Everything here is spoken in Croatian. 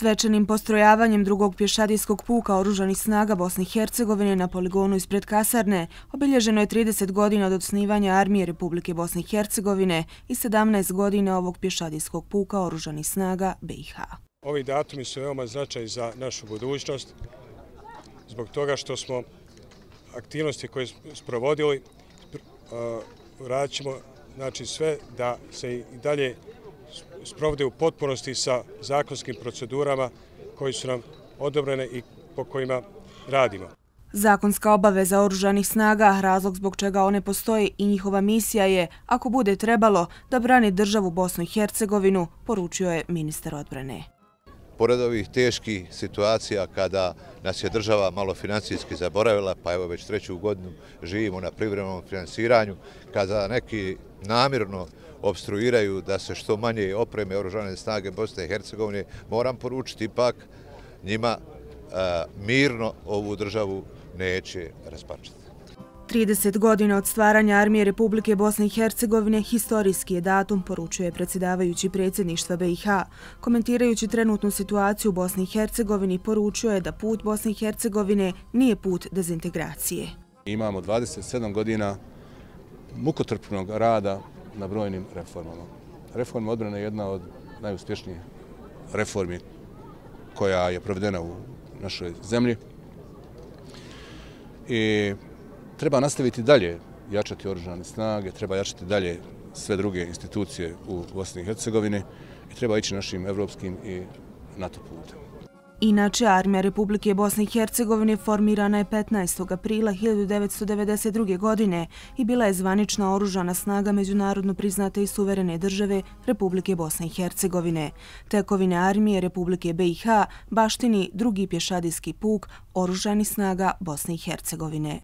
Svečanim postrojavanjem drugog pješadijskog puka Oružanih snaga Bosne i Hercegovine na poligonu ispred kasarne obilježeno je 30 godina od osnivanja Armije Republike Bosne i Hercegovine i 17 godina ovog pješadijskog puka Oružanih snaga BiH. Ovi datumi su veoma značajni za našu budućnost, zbog toga što smo aktivnosti koje smo sprovodili, radit ćemo sve da se i dalje sprovode u potpunosti sa zakonskim procedurama koji su nam odobrene i po kojima radimo. Zakonska obaveza Oružanih snaga, razlog zbog čega one postoje i njihova misija je, ako bude trebalo, da brani državu Bosnu i Hercegovinu, poručio je ministar odbrane. Pored ovih teških situacija kada nas je država malo financijski zaboravila, pa evo već 3. godinu živimo na privremenom finansiranju, kada neki namjerno opstruiraju da se što manje opreme Oružane snage Bosne i Hercegovine, moram poručiti ipak njima mirno ovu državu neće raspačati. 30 godina od stvaranja Armije Republike Bosne i Hercegovine historijski je datum, poručuje predsjedavajući predsjedništva BiH. Komentirajući trenutnu situaciju u Bosni i Hercegovini, poručio je da put Bosne i Hercegovine nije put dezintegracije. Imamo 27 godina mukotrpnog rada na brojnim reformama. Reforma odbrane je jedna od najuspješnijih reformi koja je provedena u našoj zemlji. I treba nastaviti dalje jačati Oružane snage, treba jačati dalje sve druge institucije u Bosni i Hercegovini i treba ići našim evropskim i NATO putem. Inače, Armija Republike Bosne i Hercegovine formirana je 15. aprila 1992. godine i bila je zvanična oružana snaga međunarodno priznate i suverene države Republike Bosne i Hercegovine. Tekovine Armije Republike BiH baštini drugi pješadijski puk Oružanih snaga Bosne i Hercegovine.